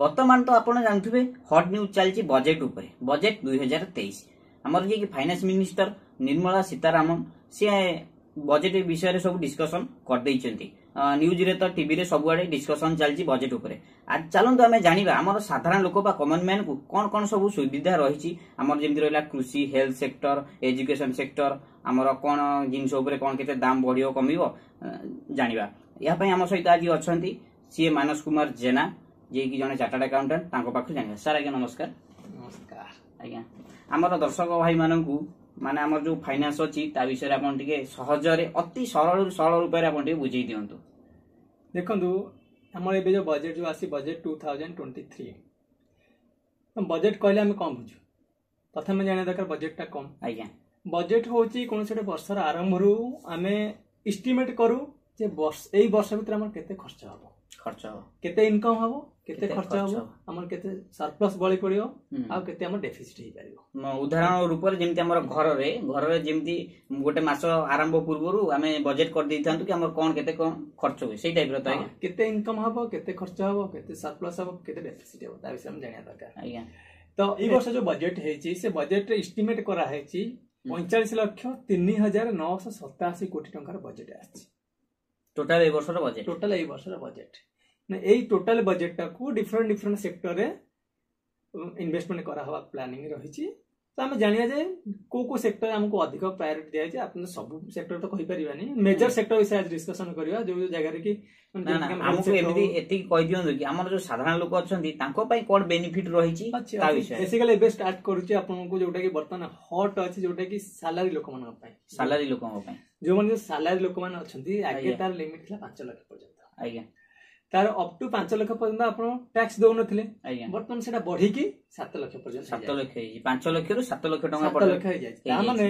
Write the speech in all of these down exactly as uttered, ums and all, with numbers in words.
ବର୍ତ୍ତମାନ ତ ଆପଣ ଜାଣୁଥିବେ ହଟ୍ ନ୍ୟୁଜ୍ ଚାଲିଛି ବଜେଟ୍ ଉପରେ ବଜେଟ୍ ଦୁଇ ହଜାର ତେଇଶ ଆମର ଯିଏକି ଫାଇନାନ୍ସ ମିନିଷ୍ଟର ନିର୍ମଳା ସୀତାରାମନ ସିଏ ବଜେଟ୍ ବିଷୟରେ ସବୁ ଡିସ୍କସନ କରିଦେଇଛନ୍ତି ନ୍ୟୁଜରେ ତ ଟିଭିରେ ସବୁଆଡେ ଡିସ୍କସନ ଚାଲିଛି ବଜେଟ୍ ଉପରେ ଆଜି ଚାଲନ୍ତୁ ଆମେ ଜାଣିବା ଆମର ସାଧାରଣ ଲୋକ ବା କମନ ମ୍ୟାନକୁ କଣ କଣ ସବୁ ସୁବିଧା ରହିଛି ଆମର ଯେମିତି ରହିଲା କୃଷି ହେଲ୍ଥ ସେକ୍ଟର ଏଜୁକେସନ ସେକ୍ଟର ଆମର କଣ ଜିନିଷ ଉପରେ କଣ କେତେ ଦାମ ବଢିବ କମିବ ଜାଣିବା ଏହା ପାଇଁ ଆମ ସହିତ ଆଜି ଅଛନ୍ତି ସିଏ ମାନସ କୁମାର ଜେନା ଯିଏକି ଜଣେ ଚାର୍ଟାର୍ଡ ଆକାଉଣ୍ଟାଣ୍ଟ ତାଙ୍କ ପାଖରୁ ଜାଣିବା ସାର୍ ଆଜ୍ଞା ନମସ୍କାର ନମସ୍କାର ଆଜ୍ଞା ଆମର ଦର୍ଶକ ଭାଇମାନଙ୍କୁ ମାନେ ଆମର ଯୋଉ ଫାଇନାନ୍ସ ଅଛି ତା ବିଷୟରେ ଆପଣ ଟିକେ ସହଜରେ ଅତି ସରଳରୁ ସରଳ ରୂପରେ ଆପଣ ଟିକେ ବୁଝେଇ ଦିଅନ୍ତୁ ଦେଖନ୍ତୁ ଆମର ଏବେ ଯୋଉ ବଜେଟ୍ ଯୋଉ ଆସି budget two thousand twenty three budget କହିଲେ ଆମେ କ'ଣ ବୁଝୁ ପ୍ରଥମେ ଜାଣିବା ଦରକାର ବଜେଟଟା କ'ଣ ଆଜ୍ଞା ବଜେଟ୍ ହେଉଛି କୌଣସି ଗୋଟେ ବର୍ଷର ଆରମ୍ଭରୁ ଆମେ ଇଷ୍ଟିମେଟ୍ କରୁ ଯେ ବର୍ଷ ଏଇ ବର୍ଷ ଭିତରେ ଆମର କେତେ ଖର୍ଚ୍ଚ ହବ ଖର୍ଚ୍ଚ ହବ କେତେ ଇନକମ୍ ହବ କେତେ କେତେ ଖର୍ଚ୍ଚ ଖର୍ଚ୍ଚ ହବ ହବ। ଆମର କେତେ ସରପ୍ଲସ୍ ବଳି ପଡିବ ହୁଁ। ଆଉ କେତେ ଆମର ଡେଫିସିଟ୍ ହେଇପାରିବ ମ- ଉଦାହରଣ ରୂପରେ ଯେମିତି ଆମର ଘରରେ ଘରରେ ଯେମିତି ଗୋଟେ ମାସ ଆରମ୍ଭ ପୂର୍ବରୁ ଆମେ ବଜେଟ୍ କରିଦେଇଥାନ୍ତୁ କି ଆମର କଣ କେତେ କଣ ଖର୍ଚ୍ଚ ହୁଏ ସେଇ ଟାଇପର ତ ହଁ, ଆଜ୍ଞା କେତେ ଇନକମ୍ ହବ କେତେ ଖର୍ଚ୍ଚ ହବ କେତେ ସରପ୍ଲସ୍ ହବ କେତେ ଡେଫିସିଟ୍ ହବ ତା ବିଷୟରେ ଆମେ ଜାଣିବା ଦରକାର ଆଜ୍ଞା ତ ଏଇ ବର୍ଷ ଯୋଉ ବଜେଟ୍ ହେଇଛି ସେ ବଜେଟରେ ଇଷ୍ଟିମେଟ୍ କରାହେଇଛି ପଇଁଚାଳିଶ ଲକ୍ଷ ତିନି ହଜାର ନଅଶହ ସତାଅଶୀ କୋଟି ଟଙ୍କାର ବଜେଟ୍ ଆସିଛି ଟୋଟାଲ ଏଇ ବର୍ଷର ବଜେଟ୍ ଟୋଟାଲ ଏଇ ବର୍ଷର ବଜେଟ୍ ଏଇ ଟୋଟାଲ ବଜେଟଟାକୁ ଡିଫରେଣ୍ଟ ଡିଫରେଣ୍ଟ ସେକ୍ଟରରେ ଇନଭେଷ୍ଟମେଣ୍ଟ କରାହବା ପ୍ଲାନିଂ ରହିଛି ତ ଆମେ ଜାଣିବା ଯେ କୋଉ କୋଉ ସେକ୍ଟରରେ ଆମକୁ ଅଧିକ ପ୍ରାୟୋରିଟି ଦିଆଯାଇଛି ଆପଣ ସବୁ ସେକ୍ଟର ତ କହିପାରିବାନି ମେଜର ସେକ୍ଟର ବିଷୟରେ ଆଜି ଡିସ୍କସନ କରିବା ଯୋଉ ଯୋଉ ଜାଗାରେ କି ମାନେ ନା ନା ଯେମିତିକି ଆମ health ଆମକୁ sector ଏମିତି ହଉ, ଏତିକି କହିଦିଅନ୍ତୁ କି ଆମର ଯୋଉ ସାଧାରଣ ଲୋକ ଅଛନ୍ତି ତାଙ୍କ ପାଇଁ କଣ ବେନିଫିଟ ରହିଛି ଅଛି ତା ବିଷୟରେ ବେସିକାଲି ଏବେ ଷ୍ଟାର୍ଟ କରୁଛି ଆପଣଙ୍କୁ ଯୋଉଟା କି ବର୍ତ୍ତମାନ ହଟ୍ ଅଛି ଯୋଉଟା କି ସାଲାରୀ ଲୋକମାନଙ୍କ ପାଇଁ ସାଲାରୀ ଲୋକଙ୍କ ପାଇଁ ଯୋଉମାନେ ଯୋଉ ସାଲାରୀ ଲୋକମାନେ ଅଛନ୍ତି ଆଗେ ଆଜ୍ଞା। ତାର ଲିମିଟ ଥିଲା ପାଞ୍ଚ ଲକ୍ଷ ପର୍ଯ୍ୟନ୍ତ ଆଜ୍ଞା ତାର ଅପ୍ ଟୁ ପାଞ୍ଚ ଲକ୍ଷ ପର୍ଯ୍ୟନ୍ତ ଆପଣ ଟ୍ୟାକ୍ସ ଦଉନଥିଲେ ଆଜ୍ଞା ବର୍ତ୍ତମାନ ସେଟା ବଢିକି ସାତ ଲକ୍ଷ ପର୍ଯ୍ୟନ୍ତ ସାତ ହେଇଯାଇଛି। ଲକ୍ଷ ହେଇଛି ପାଞ୍ଚ ଲକ୍ଷରୁ ସାତ ଲକ୍ଷ ଟଙ୍କା ସାତ ପର୍ଯ୍ୟନ୍ତ ଲକ୍ଷ ହେଇଯାଇଛି ତା ହେଇଯାଇଛି। ମାନେ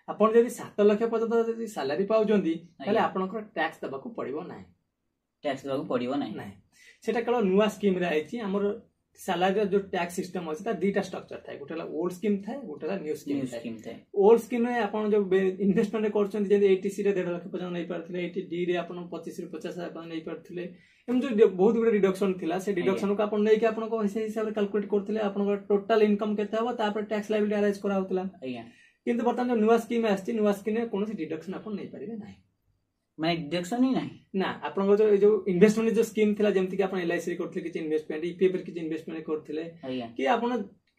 ଆପଣ ଯଦି ସାତ ଲକ୍ଷ ପର୍ଯ୍ୟନ୍ତ ଯଦି ସାଲାରୀ ପାଉଛନ୍ତି ତାହେଲେ ଆଜ୍ଞା। ଆପଣଙ୍କର ଟ୍ୟାକ୍ସ ଦେବାକୁ ପଡିବ ନାହିଁ ଟ୍ୟାକ୍ସ ଦେବାକୁ ପଡିବ ନାହିଁ ନାହିଁ ସେଟା କେବଳ ନୂଆ ସ୍କିମରେ ଆଇଛି ଆମର ସାଲାରୀର ଯୋଉ ଟ୍ୟାକ୍ସ ସିଷ୍ଟମ ଅଛି ତାର ଦିଟା ଷ୍ଟ୍ରକ୍ଚର ଥାଏ ଗୋଟେ ହେଲା ଓଲ୍ଡ ସ୍କିମ୍ ଥାଏ ଗୋଟେ ହେଲା ନ୍ୟୁ ସ୍କିମ୍ ନ୍ୟୁ ଥାଏ ସ୍କିମ୍ ଥାଏ ଓଲ୍ଡ ସ୍କିମ୍ରେ ଆପଣ ଯୋଉ ଇନଭେଷ୍ଟମେଣ୍ଟ କରୁଛନ୍ତି ଯେମିତି ଏଇଟି ସି ରେ ଦେଢ ଲକ୍ଷ ପର୍ଯ୍ୟନ୍ତ ନେଇପାରୁଥିଲେ ଏଇଟି ଡି ରେ ଆପଣ ପଚିଶରୁ ପଚାଶ ହଜାର ପର୍ଯ୍ୟନ୍ତ ନେଇପାରୁଥିଲେ ଏମିତି ଯୋଉ ବହୁତ ଗୁଡେ ଡିଡକ୍ସନ ଥିଲା ସେ ଡିଡକ୍ସନକୁ ଆପଣ ନେଇକି ଆପଣଙ୍କ ସେଇ ହିସାବରେ କାଲକୁଲେଟ କରୁଥିଲେ ଆପଣଙ୍କର ଟୋଟାଲ ଇନକମ୍ କେତେ ହବ ତାପରେ ଟ୍ୟାକ୍ସ ଲାଇବିଲିଟି ଆରାଇଜ କରାହଉଥିଲା ଆଜ୍ଞା କିନ୍ତୁ ବର୍ତ୍ତମାନ ଯୋଉ ନୂଆ ସ୍କିମ୍ ଆସିଛି ନୂଆ ସ୍କିମ୍ରେ କୌଣସି ଡିଡକ୍ସନ ଆପଣ ନେଇପାରିବେ ନାହିଁ ମାନେ ଡିଡକ୍ସନ ହିଁ ନାହିଁ ନା ଆପଣଙ୍କ ଯୋଉ ଏଇ ଯୋଉ ଇନଭେଷ୍ଟମେଣ୍ଟ ଯୋଉ ସ୍କିମ୍ ଥିଲା ଯେମିତି କି ଆପଣ ଏଲ୍ଆଇସି ରେ କରୁଥିଲେ କିଛି ଇନଭେଷ୍ଟମେଣ୍ଟ ଇପିଏଫ ରେ କିଛି ଇନଭେଷ୍ଟମେଣ୍ଟ କରୁଥିଲେ ଆଜ୍ଞା କି ଆପଣ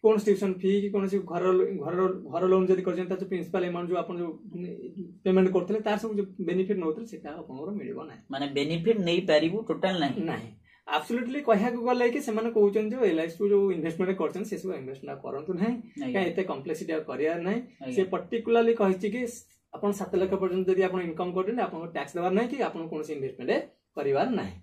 କୌଣସି ଟ୍ୟୁସନ ଫି କି କୌଣସି ଘର ଘର ଘର ଲୋନ୍ ଯଦି କରିଛନ୍ତି ତାର ଯୋଉ ପ୍ରିନ୍ସିପାଲ ଆମାଉଣ୍ଟ ଯୋଉ ଆପଣ ଯୋଉ ପେମେଣ୍ଟ କରୁଥିଲେ ତାର ସବୁ ଯୋଉ ବେନିଫିଟ ନେଉଥିଲେ ସେଟା ଆପଣଙ୍କର ମିଳିବ ନାହିଁ ମାନେ ବେନିଫିଟ ନେଇପାରିବୁ ଟୋଟାଲ ନାହିଁ ନାହିଁ ଆବସୋଲ୍ୟୁଟଲି କହିବାକୁ ଗଲେ କି ସେମାନେ କହୁଛନ୍ତି ଯୋଉ ଏଲ୍ଆଇସି ଯୋଉ ଇନଭେଷ୍ଟମେଣ୍ଟ କରିଛନ୍ତି ସେ ସବୁ ଇନଭେଷ୍ଟମେଣ୍ଟ କରନ୍ତୁ ନାହିଁ ଆଜ୍ଞା କାହିଁ ଏତେ କମ୍ପ୍ଲେକ୍ସିଟି ଆଉ କରିବାର ନାହିଁ ଆଜ୍ଞା ସେ ପର୍ଟିକୁଲାରଲି କହିଛି କି ଆପଣ ସାତ ଲକ୍ଷ ପର୍ଯ୍ୟନ୍ତ ଯଦି ଆପଣ ଇନକମ୍ କରୁଛନ୍ତି ଆପଣଙ୍କୁ ଟ୍ୟାକ୍ସ ଦେବାର ନାହିଁ କି ଆପଣ କୌଣସି ଇନଭେଷ୍ଟମେଣ୍ଟ କରିବାର ନାହିଁ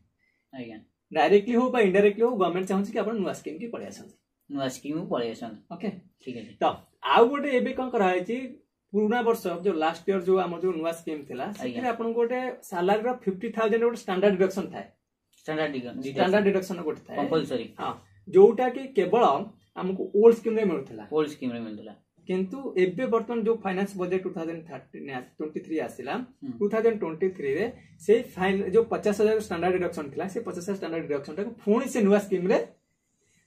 ଆଜ୍ଞା ଡାଇରେକ୍ଟଲି ହଉ ବା ଇନଡାଇରେକ୍ଟଲି ହଉ ଗଭର୍ଣ୍ଣମେଣ୍ଟ ଚାହୁଁଛି କି ଆପଣ ନୂଆ ସ୍କିମ୍ କି ପଳେଇ ଆସନ୍ତୁ ନୂଆ ସ୍କିମ୍ ପଳେଇ ଆସନ୍ତୁ ଓକେ ଠିକ ଅଛି ତ ଆଉ ଗୋଟେ ଏବେ କଣ କରାହେଇଛି ପୁରୁଣା ବର୍ଷ ଯୋଉ ଲାଷ୍ଟ ଇୟର ଯୋଉ ଆମର ଯୋଉ ନୂଆ ସ୍କିମ୍ ଥିଲା ସେଥିରେ ଆପଣଙ୍କୁ ଗୋଟେ ସାଲାରୀର ଫିଫ୍ଟି ଥାଉଜେଣ୍ଡ ଗୋଟେ ଷ୍ଟାଣ୍ଡାର୍ଡ ଡିଡକ୍ସନ ଥାଏ ଷ୍ଟାଣ୍ଡାର୍ଡ ଷ୍ଟାଣ୍ଡାର୍ଡ ଡିଡକ୍ସନ ଗୋଟେ ଥାଏ କମ୍ପଲସରି ହଁ ଯୋଉଟା କି କେବଳ ଆମକୁ ଓଲ୍ଡ ସ୍କିମ୍ ରେ ମିଳୁଥିଲା ଓଲ୍ଡ ସ୍କିମ୍ ରେ ମିଳୁଥିଲା କିନ୍ତୁ ଏବେ ବର୍ତ୍ତମାନ ଯୋଉ finance budget two thousand thirty twenty three ଆସିଲା ହୁଁ। ଟୁ ଥାଉଜେଣ୍ଡ ଟ୍ୱେଣ୍ଟି ଥ୍ରୀରେ ସେଇ ଫାଇନ୍ ଯୋଉ ପଚାଶ ହଜାର ଷ୍ଟାଣ୍ଡାର୍ଡ ଡିଡକ୍ସନ ଥିଲା ସେ ପଚାଶ ହଜାର ଷ୍ଟାଣ୍ଡାର୍ଡ ଡିଡକ୍ସନ ଟାକୁ ପୁଣି ସେ ନୂଆ ସ୍କିମ୍ ରେ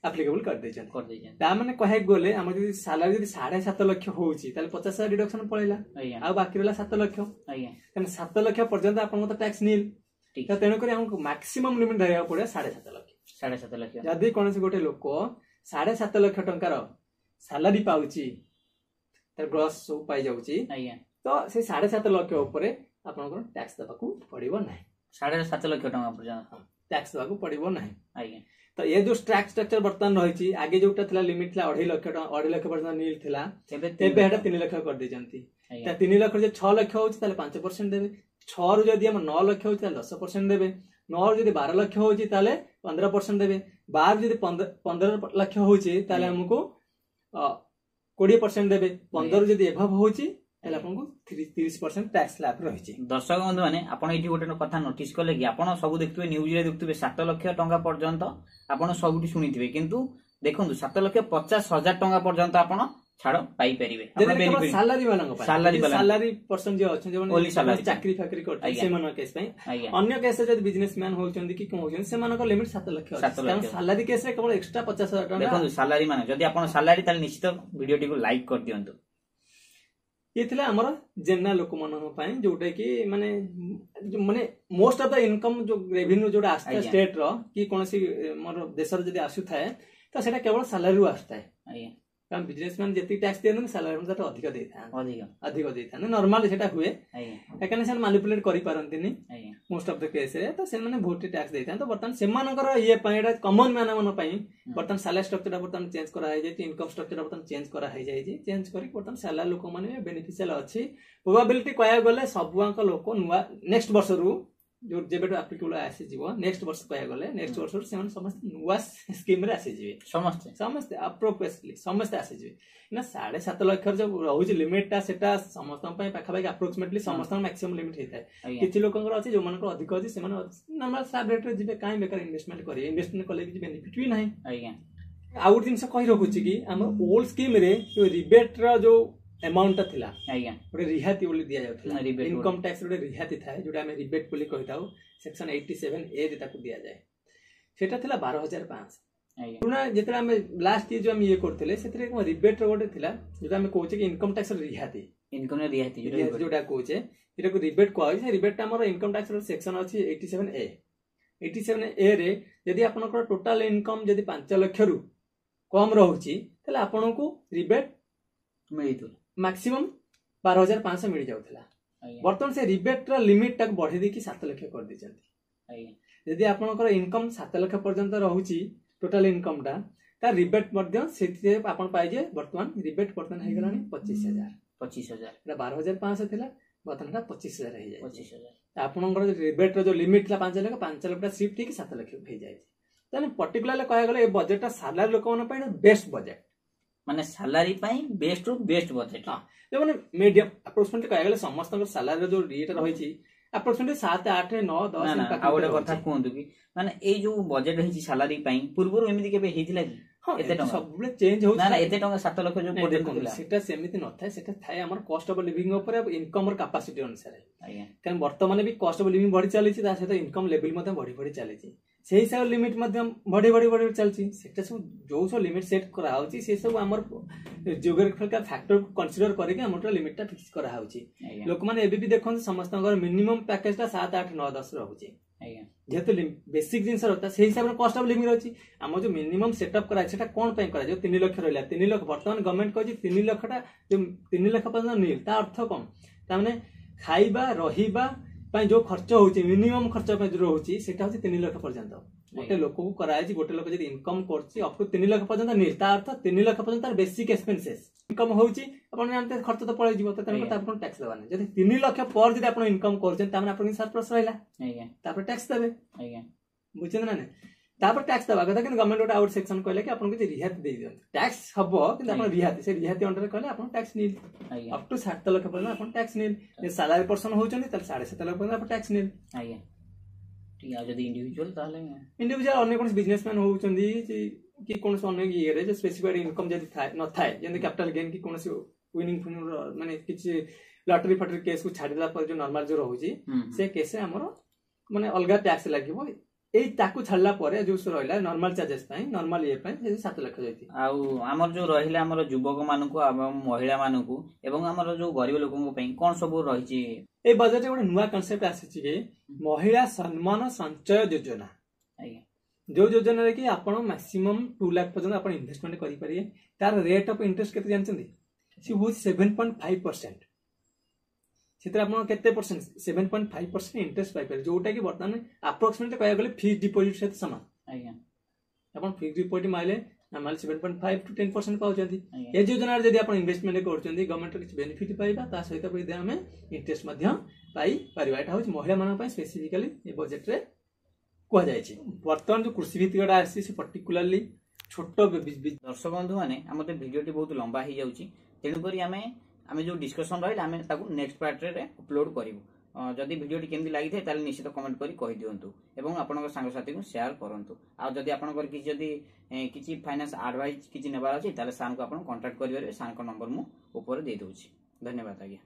ଆପ୍ଲିକେବଲ କରିଦେଇଛନ୍ତି କରିଦେଇଛନ୍ତି ତା ମାନେ କହିବାକୁ ଗଲେ ଆମର ଯଦି ସାଲାରୀ ଯଦି ସାଢେ ସାତ ଲକ୍ଷ ହଉଛି ତାହେଲେ ପଚାଶ ହଜାର ଡିଡକ୍ସନ ପଳେଇଲା ଆଜ୍ଞା ଆଉ ବାକି ରହିଲା ସାତ ଲକ୍ଷ ଆଜ୍ଞା ତେଣୁ ସାତ ଲକ୍ଷ ପର୍ଯ୍ୟନ୍ତ ଆପଣଙ୍କ ତ ଟ୍ୟାକ୍ସ ନିଲ୍ ଠିକ ତ ତେଣୁକରି ଆମକୁ ମାକ୍ସିମମ୍ ଲିମିଟ ଧରିବାକୁ ପଡିବ ସାଢେ ସାତ ଲକ୍ଷ ସାଢେ ସାତ ଲକ୍ଷ ଯଦି କୌଣସି ଗୋଟେ ଲୋକ ସାଢେ ସାତ ଲକ୍ଷ ଟଙ୍କାର ସାଲାରୀ ପାଉଛି ତାର ଗ୍ରସ୍ ସବୁ ପାଇଯାଉଛି ଆଜ୍ଞା ତ ସେଇ ସାଢେ ସାତ ଲକ୍ଷ ଉପରେ ଆପଣଙ୍କର ଟ୍ୟାକ୍ସ ଦେବାକୁ ପଡିବ ନାହିଁ ସାଢେ ସାତ ଲକ୍ଷ ଟଙ୍କା ପର୍ଯ୍ୟନ୍ତ ଟ୍ୟାକ୍ସ ଦେବାକୁ ପଡିବ ନାହିଁ ଆଜ୍ଞା ତ ଏ ଯୋଉ ଟ୍ୟାକ୍ସ ଷ୍ଟ୍ରକ୍ଚର ବର୍ତ୍ତମାନ ରହିଛି ଆଗେ ଯୋଉଟା ଥିଲା ଲିମିଟ ଥିଲା ଅଢେଇ ଲକ୍ଷ ଟଙ୍କା ଅଢେଇ ଲକ୍ଷ ପର୍ଯ୍ୟନ୍ତ ନିଲ୍ ଥିଲା ଏବେ ଏବେ ସେଟା ତିନି ଲକ୍ଷ କରିଦେଇଛନ୍ତି ଆଜ୍ଞା ତା ତିନି ଲକ୍ଷ ଯଦି ଛଅ ଲକ୍ଷ ହଉଛି ତାହେଲେ ପାଞ୍ଚ ପରସେଣ୍ଟ ଦେବେ ଛଅରୁ ଯଦି ଆମ ନଅ ଲକ୍ଷ ହଉଛି ତାହେଲେ ଦଶ ପରସେଣ୍ଟ ଦେବେ ନଅରୁ ଯଦି ବାର ଲକ୍ଷ ହଉଛି ତାହେଲେ ପନ୍ଦର ପରସେଣ୍ଟ ଦେବେ ବାର ଯଦି ପନ୍ଦର ପନ୍ଦର ଲକ୍ଷ ହଉଛି ତାହେଲେ ଆଜ୍ଞା। ଆମକୁ କୋଡିଏ ପରସେଣ୍ଟ ଦେବେ ପନ୍ଦର ଯଦି ଏଭବ ହଉଛି ତାହେଲେ ଆପଣଙ୍କୁ ତିରିଶ ପରସେଣ୍ଟ ଟ୍ୟାକ୍ସ ସ୍ଲାବ ରହିଛି ଦର୍ଶକ ବନ୍ଧୁ ମାନେ ଆପଣ ଏଇଠି ଗୋଟେ କଥା ନୋଟିସ କଲେ କି ଆପଣ ସବୁ ଦେଖୁଥିବେ ନ୍ୟୁଜରେ ଦେଖୁଥିବେ ସାତ ଲକ୍ଷ ଟଙ୍କା ପର୍ଯ୍ୟନ୍ତ ଆପଣ ସବୁଠି ଶୁଣିଥିବେ କିନ୍ତୁ ଦେଖନ୍ତୁ ସାତ ଲକ୍ଷ ପଚାଶ ହଜାର ଟଙ୍କା ପର୍ଯ୍ୟନ୍ତ ଆପଣ ଛାଡ଼ ପାଇପାରିବେ। ସାଲାରୀ ମାନଙ୍କ ପାଇଁ, ସାଲାରୀ ସାଲାରୀ ପର୍ସନ ଯିଏ ଅଛନ୍ତି, ଯେଉଁମାନେ ଚାକିରି ଫାକିରି କରୁଛନ୍ତି, ସେମାନଙ୍କ କେସ୍ ପାଇଁ। ଅନ୍ୟ କେସ୍ ଯଦି ବିଜନେସ ମ୍ୟାନ ହଉଛନ୍ତି କି କଣ ହଉଛନ୍ତି, ସେମାନଙ୍କ ଲିମିଟ ସାତ ଲକ୍ଷ। କାରଣ ସାଲାରୀ କେସରେ କେବଳ ଏକ୍ସଟ୍ରା ପଚାଶ ହଜାର ଟଙ୍କା। ଦେଖନ୍ତୁ, ସାଲାରୀ ମାନେ ଯଦି ଆପଣ ସାଲାରୀ, ତାହେଲେ ନିଶ୍ଚିତ ଭିଡିଓଟିକୁ ଲାଇକ୍ କରିଦିଅନ୍ତୁ। ଇଏ ଥିଲା ଆମର ଜେନେରାଲ ଲୋକମାନଙ୍କ ପାଇଁ, ଯୋଉଟା କି ମାନେ ମାନେ ମୋଷ୍ଟ ଅଫ the income, ଯୋଉ ରେଭିନ୍ୟୁ ଯୋଉଟା ଆସିଥାଏ ଷ୍ଟେଟ ର କି କୌଣସି ମୋର ଦେଶର ଯଦି ଆସୁଥାଏ, ତ ସେଇଟା କେବଳ ସାଲାରୀରୁ ଆସୁଥାଏ। କାରଣ ବିଜନେସ ମ୍ୟାନ ଯେତିକି ଟ୍ୟାକ୍ସ ଦିଅନ୍ତି, ସାଲାରୀ ତାଠୁ ଅଧିକ ଦେଇଥାନ୍ତି, ଅଧିକ ଅଧିକ ଦେଇଥାନ୍ତି। ନର୍ମାଲି ସେଟା ହୁଏ, କାହିଁକିନା ସେମାନେ ମାନିପୁଲେଟ କରିପାରନ୍ତିନି ମୋଷ୍ଟ ଅଫ the କେସରେ, ତ ସେମାନେ ବହୁତ ଟ୍ୟାକ୍ସ ଦେଇଥାନ୍ତି। ତ ବର୍ତ୍ତମାନ ସେମାନଙ୍କର ଇଏ ପାଇଁ, ଏଇଟା କମନ ମ୍ୟାନ ମାନଙ୍କ ପାଇଁ ବର୍ତ୍ତମାନ ସାଲାରୀ ଷ୍ଟ୍ରକ୍ଚରଟା ବର୍ତ୍ତମାନ ଚେଞ୍ଜ କରାହେଇଯାଇଛି, ଇନକମ ଷ୍ଟ୍ରକ୍ଚରଟା ବର୍ତ୍ତମାନ ଚେଞ୍ଜ କରାହେଇଯାଇଛି। ଚେଞ୍ଜ କରିକି ବର୍ତ୍ତମାନ ସାଲାରୀ ଲୋକମାନେ ବେନିଫିସିଆଲ ଅଛି। ପ୍ରୋବାବିଲିଟି କହିବାକୁ ଗଲେ ସବୁଆଙ୍କ ଲୋକ ନୂଆ ନେକ୍ସଟ ବର୍ଷରୁ, ଯୋଉ ଯେବେଠୁ ଆପ୍ଲିକେବଲ ଆସିଯିବ, ନେକ୍ସଟ ବର୍ଷ କହିବାକୁ ଗଲେ ନେକ୍ସଟ ବର୍ଷରୁ ସେମାନେ ସମସ୍ତେ ନୂଆ ସ୍କିମରେ ଆସିଯିବେ। ସମସ୍ତେ ସମସ୍ତେ ଆପ୍ରୋକ୍ସିମେଟଲି ସମସ୍ତେ ଆସିଯିବେ ନା। ସାଢେ ସାତ ଲକ୍ଷର ଯୋଉ ରହୁଛି ଲିମିଟଟା, ସେଟା ସମସ୍ତଙ୍କ ପାଇଁ ପାଖାପାଖି ଆପ୍ରୋକ୍ସିମେଟଲି ସମସ୍ତଙ୍କ ମ୍ୟାକ୍ସିମମ୍ ଲିମିଟ ହେଇଥାଏ। କିଛି ଲୋକଙ୍କର ଅଛି, ଯୋଉମାନଙ୍କର ଅଧିକ ଅଛି, ସେମାନେ ନର୍ମାଲ ସ୍ଲାବ ରେଟରେ ଯିବେ। କାହିଁ ବେକାର ଇନଭେଷ୍ଟମେଣ୍ଟ କରିବେ? ଇନଭେଷ୍ଟମେଣ୍ଟ କଲେ କିଛି ବେନିଫିଟ ବି ନାହିଁ। ଆଜ୍ଞା ଆଉ ଗୋଟେ ଜିନିଷ କହି ରଖୁଛି କି ଆମର ଓଲ୍ଡ ସ୍କିମରେ ଯୋଉ ରିବେଟର ଯୋଉ ଆମାଉଣ୍ଟଟା ଥିଲା, ଆଜ୍ଞା ଗୋଟେ ରିହାତି ବୋଲି ଦିଆଯାଉଥିଲା, ଇନକମ ଟ୍ୟାକ୍ସ ଗୋଟେ ରିହାତି ଥାଏ ଯୋଉଟା ଆମେ ରିବେଟ୍ ବୋଲି କହିଥାଉ, ସେକ୍ସନ ଏଇଟି ସେଭେନ ଏ ରେ ତାକୁ ଦିଆଯାଏ, ସେଟା ଥିଲା ବାର ହଜାର ପାଞ୍ଚଶହ। ପୁରୁଣା ଯେତେବେଳେ ଆମେ ଲାଷ୍ଟ ଇଏ ଯୋଉ ଆମେ ଇଏ କରୁଥିଲେ, ସେଥିରେ କଣ ରିବେଟ୍ର ଗୋଟେ ଥିଲା, ଯୋଉଟା ଆମେ କହୁଛେ କି ଇନକମ ଟ୍ୟାକ୍ସ ରିହାତି। ଇନକମ ରିହାତି। ରିହାତି ଯୋଉଟା କହୁଛେ, ଏଟାକୁ ରିବେଟ୍ କୁହାଯାଉଛି। ସେ ରିବେଟ୍ଟା ଆମର ଇନକମ ଟ୍ୟାକ୍ସ ସେକ୍ସନ ଅଛି ଏଇଟି ସେଭେନ ଏ। ଏଇଟି ସେଭେନ ଏ ରେ ଯଦି ଆପଣଙ୍କର ଟୋଟାଲ ଇନକମ ଯଦି ପାଞ୍ଚ ଲକ୍ଷରୁ କମ ରହୁଛି, ତାହେଲେ ଆପଣଙ୍କୁ ରିବେଟ୍ ମିଳିଥିଲା ମାକ୍ସିମମ୍ ବାର ହଜାର ପାଞ୍ଚଶହ ମିଳିଯାଉଥିଲା। ବର୍ତ୍ତମାନ ସେ ରିବେଟ୍ର ଲିମିଟଟାକୁ ବଢେଇ ଦେଇକି ସାତ ଲକ୍ଷ କରିଦେଇଛନ୍ତି। ଯଦି ଆପଣଙ୍କର ଇନକମ ସାତ ଲକ୍ଷ ପର୍ଯ୍ୟନ୍ତ ରହୁଛି ଟୋଟାଲ ଇନକମଟା, ତା ରିବେଟ୍ ମଧ୍ୟ ସେଥିରେ ଆପଣ ପାଇଯିବେ। ବର୍ତ୍ତମାନ ରିବେଟ୍ ବର୍ତ୍ତମାନ ହେଇଗଲାଣି ପଚିଶ ହଜାର। ପଚିଶ ହଜାର। ଏଟା ବାର ହଜାର ପାଞ୍ଚଶହ ଥିଲା, ବର୍ତ୍ତମାନ ଏଟା ପଚିଶ ହଜାର ହେଇଯାଇଛି। ପଚିଶ ହଜାର। ଆପଣଙ୍କର ରିବେଟ୍ର ଯୋଉ ଲିମିଟ୍ ଥିଲା ପାଞ୍ଚ ଲକ୍ଷ, ପାଞ୍ଚ ଲକ୍ଷଟା ସିଫ୍ଟ ହେଇକି ସାତ ଲକ୍ଷ ହେଇଯାଇଛି। ତାହେଲେ ପର୍ଟିକୁଲାରଲି କହିବାକୁ ଗଲେ ଏ ବଜେଟଟା ସାଲାରୀ ଲୋକମାନଙ୍କ ପାଇଁ ବେଷ୍ଟ ବଜେଟ୍। ମାନେ ସାଲାରୀ ପାଇଁ ବେଷ୍ଟ ରୁ ବେଷ୍ଟ ବଜେଟ୍। ହଁ, ଯୋଉମାନେ ମିଡିୟମ, ଆପ୍ରୋକ୍ସିମେଟଲି କହିବାକୁ ଗଲେ ସମସ୍ତଙ୍କର ସାଲାରୀର ଯୋଉ ଇଏଟା ରହିଛି, ଆପ୍ରୋକ୍ସିମେଟଲି ସାତ, ଆଠ, ନଅ, ଦଶ। ଆଉ ଗୋଟେ କଥା କୁହନ୍ତୁ କି ମାନେ ଏଇ ଯୋଉ ବଜେଟ୍ ହେଇଛି ସାଲାରୀ ପାଇଁ, ପୂର୍ବରୁ ଏମିତି କେବେ ହେଇଥିଲା କି? ହଁ, ଏତେ ଟଙ୍କା ସବୁବେଳେ ଚେଞ୍ଜ ହଉଛି। ନା, ଏତେ ଟଙ୍କା ସାତ ଲକ୍ଷ ଯୋଉ ଦେଖନ୍ତୁ, ସେଟା ସେମିତି ନଥାଏ। ସେଟା ଥାଏ ଆମର କଷ୍ଟ ଅଫ ଲିଭିଂ ଉପରେ, ଇନକମ ର କାପାସିଟି ଅନୁସାରେ। ଆଜ୍ଞା କାରଣ ବର୍ତ୍ତମାନ ବି କଷ୍ଟ ଅଫ ଲିଭିଂ ବଢି ଚାଲିଛି, ତା ସହିତ ଇନକମ ଲେଭେଲ ମଧ୍ୟ ବଢି ବଢି ଚାଲିଛି, ସେଇ ହିସାବରେ ଲିମିଟ ମଧ୍ୟ ବଢି ବଢି ବଢି ଚାଲିଛି। ସେଟା ସବୁ ଯୋଉ ସବୁ ଲିମିଟ ସେଟ୍ କରାହଉଛି, ସେ ସବୁ ଆମର ଜିଓଗ୍ରାଫିକାଲ ଫ୍ୟାକ୍ଟରକୁ କନସିଡର କରିକି ଆମର ଲିମିଟଟା ଫିକ୍ସ କରାହଉଛି। ଲୋକମାନେ ଏବେ ବି ଦେଖନ୍ତୁ, ସମସ୍ତଙ୍କର ମିନିମମ୍ ପ୍ୟାକେଜଟା ସାତ, ଆଠ, ନଅ, ଦଶ ରହୁଛି। ଯେହେତୁ ବେସିକ ଜିନିଷ ରହିଥାଏ, ସେଇ ହିସାବରେ କଷ୍ଟ ଅଫ ଲିଭିଂ ରହିଛି। ଆମ ଯୋଉ ମିନିମମ୍ ସେଟଅପ୍ କରାଯାଇଛି, ସେଟା କଣ ପାଇଁ କରାଯିବ? ତିନି ଲକ୍ଷ ରହିଲା, ତିନି ଲକ୍ଷ ବର୍ତ୍ତମାନ ଗଭର୍ଣ୍ଣମେଣ୍ଟ କହିଛି ତିନି ଲକ୍ଷଟା, ଯୋଉ ତିନି ଲକ୍ଷ ପର୍ଯ୍ୟନ୍ତ ନିଲ୍। ତା ଅର୍ଥ କଣ? ତାମାନେ ଖାଇବା ରହିବା ପାଇଁ ଯୋଉ ଖର୍ଚ୍ଚ ହଉଛି, ମିନିମମ୍ ଖର୍ଚ୍ଚ ପାଇଁ ଯୋଉ ରହୁଛି, ସେଟା ହଉଛି ତିନି ଲକ୍ଷ ପର୍ଯ୍ୟନ୍ତ ଗୋଟେ ଲୋକକୁ କରାଯାଇଛି। ଗୋଟେ ଲୋକ ଯଦି ଇନକମ କରୁଛି ଅପ୍ ଟୁ ତିନି ଲକ୍ଷ ପର୍ଯ୍ୟନ୍ତ ନିଲ୍। ତା ଅର୍ଥ ତିନି ଲକ୍ଷ ପର୍ଯ୍ୟନ୍ତ ତାର ବେସିକ ଏକ୍ସପେନ୍ସେସ୍ ଇନକମ ହଉଛି, ଆପଣ ଜାଣିତେ ଖର୍ଚ୍ଚ ତ ପଳେଇଯିବ, ତ ତେଣୁ ଆପଣ ଟ୍ୟାକ୍ସ ଦେବାନି। ଯଦି ତିନି ଲକ୍ଷ ପରେ ଯଦି ଆପଣ ଇନକମ କରୁଛନ୍ତି, ତାମାନେ ଆପଣଙ୍କ ସରପ୍ଲସ୍ ରହିଲା, ତାପରେ ଟ୍ୟାକ୍ସ ଦେବେ। ବୁଝୁଛନ୍ତି ନା ନାଇଁ? ତାପରେ ଟ୍ୟାକ୍ସ ଦେବା କଥା, କିନ୍ତୁ ଗଭର୍ଣ୍ଣମେଣ୍ଟ ଗୋଟେ ଆଉ ଗୋଟେ ସେକ୍ସନ କହିଲେ କି ଆପଣଙ୍କୁ କିଛି ରିହାତି ଦେଇ ଦିଅନ୍ତୁ। ଟ୍ୟାକ୍ସ ହବ, କିନ୍ତୁ ଆପଣ ରିହାତି, ସେ ରିହାତି ଅଣ୍ଡରରେ କହିଲେ ଆପଣ ଟ୍ୟାକ୍ସ ନିଲ୍। ଅପ୍ ଟୁ ସାତ ଲକ୍ଷ ପର୍ଯ୍ୟନ୍ତ ଆପଣ ଟ୍ୟାକ୍ସ ନିଲ୍। ଯଦି ସାଲାରୀ ପର୍ସନ ହଉଛନ୍ତି, ତାହେଲେ ସାଢେ ସାତ ଲକ୍ଷ ପର୍ଯ୍ୟନ୍ତ ଆପଣ ଟ୍ୟାକ୍ସ ନିଲ୍। ଆଜ୍ଞା ଠିକ। ଆଉ ଯଦି ଇଣ୍ଡିଭିଜୁଆଲ ତାହେଲେ? ଇଣ୍ଡିଭିଜୁଆଲ ଅନ୍ୟ କୌଣସି ବିଜନେସମ୍ୟାନ ହଉଛନ୍ତି କି କୌଣସି ଅନ୍ୟ ଇଏରେ ଯେ ସ୍ପେସିଫାଇଡ ଇନକମ ଯଦି ଥାଏ ନଥାଏ, ଯେମିତି କ୍ୟାପିଟାଲ ଗେନ୍ କି କୌଣସି ୱିନିଂ ଫିନିଂ, ମାନେ କିଛି ଲଟେରୀ ଫଟେରୀ କେସକୁ ଛାଡିଦେଲା ପରେ ଯୋଉ ନର୍ମାଲ ଯୋଉ ରହୁଛି, ସେ କେସରେ ଆମର ମାନେ ଅଲଗା ଟ୍ୟାକ୍ସ ଲାଗିବ। ଏଇ ତାକୁ ଛାଡିଲା ପରେ ଯୋଉ ରହିଲା ନର୍ମାଲ ଚାର୍ଜେସ୍ ପାଇଁ, ନର୍ମାଲ ଇଏ ପାଇଁ, ସେ ସାତ ଲକ୍ଷ ଯାଇଛି। ଆଉ ଆମର ଯୋଉ ରହିଲା ଆମର ଯୁବକ ମାନଙ୍କୁ ଏବଂ ମହିଳା ମାନଙ୍କୁ ଏବଂ ଆମର ଯୋଉ ଗରିବ ଲୋକଙ୍କ ପାଇଁ କଣ ସବୁ ରହିଛି? ଏଇ ବଜେଟରେ ଗୋଟେ ନୂଆ କନସେପ୍ଟ ଆସିଛି କି ମହିଳା ସମ୍ମାନ ସଞ୍ଚୟ ଯୋଜନା। ଆଜ୍ଞା ଯୋଉ ଯୋଜନାରେ କି ଆପଣ ମ୍ୟାକ୍ସିମମ୍ ଟୁ ଲାଖ ପର୍ଯ୍ୟନ୍ତ ଆପଣ ଇନଭେଷ୍ଟମେଣ୍ଟ କରିପାରିବେ। ତାର ରେଟ୍ ଅଫ ଇଣ୍ଟରେଷ୍ଟ କେତେ ଜାଣିଛନ୍ତି? ସେ ହଉଛି ସେଭେନ ପଏଣ୍ଟ ଫାଇଭ ପରସେଣ୍ଟ। ସେଥିରେ ଆପଣ କେତେ percent, seven point five percent interest ପାଇପାରିବେ, ଯୋଉଟା କି ବର୍ତ୍ତମାନ ଆପ୍ରୋକ୍ସିମେଟଲି କହିବାକୁ ଗଲେ ଫିକ୍ସ ଡିପୋଜିଟ୍ ସହିତ ସମାନ। ଆଜ୍ଞା ଆପଣ ଫିକ୍ସ ଡିପୋଜିଟ୍ ମାରିଲେ normally seven point five to ten percent ପାଉଛନ୍ତି। ଏ ଯୋଜନାରେ ଯଦି ଆପଣ ଇନଭେଷ୍ଟମେଣ୍ଟ କରୁଛନ୍ତି, ଗଭର୍ଣ୍ଣମେଣ୍ଟର କିଛି ବେନିଫିଟ୍ ପାଇବା, ତା ସହିତ ବି ଆମେ ଇଣ୍ଟରେଷ୍ଟ ମଧ୍ୟ ପାଇପାରିବା। ଏଟା ହଉଛି ମହିଳାମାନଙ୍କ ପାଇଁ ସ୍ପେସିଫିକାଲି ଏ ବଜେଟରେ କୁହାଯାଇଛି। ବର୍ତ୍ତମାନ ଯୋଉ କୃଷି ଭିତ୍ତିକଟା ଆସିଛି, ସେ ପର୍ଟିକୁଲାରଲି ଛୋଟ ଦର୍ଶକ ବନ୍ଧୁ ମାନେ, ଆମର ତ ଭିଡିଓଟି ବହୁତ ଲମ୍ବା ହେଇଯାଉଛି, ତେଣୁକରି ଆମେ ଆମେ ଯୋଉ ଡିସ୍କସନ ରହିଲା, ଆମେ ତାକୁ ନେକ୍ସଟ ପାର୍ଟରେ ଅପଲୋଡ କରିବୁ। ଅ, ଯଦି ଭିଡ଼ିଓଟି କେମିତି ଲାଗିଥାଏ ତାହେଲେ ନିଶ୍ଚିତ କମେଣ୍ଟ କରି କହିଦିଅନ୍ତୁ ଏବଂ ଆପଣଙ୍କ ସାଙ୍ଗସାଥୀଙ୍କୁ ସେୟାର କରନ୍ତୁ ଆଉ ଯଦି ଆପଣଙ୍କର କିଛି ଯଦି ଏ, କିଛି ଫାଇନାନ୍ସ ଆଡଭାଇସ୍ କିଛି ନେବାର ଅଛି ତାହେଲେ ସାର୍ଙ୍କୁ ଆପଣ କଣ୍ଟାକ୍ଟ କରିପାରିବେ ସାର୍ଙ୍କ ନମ୍ବର ମୁଁ ଉପରେ ଦେଇଦେଉଛି ଧନ୍ୟବାଦ ଆଜ୍ଞା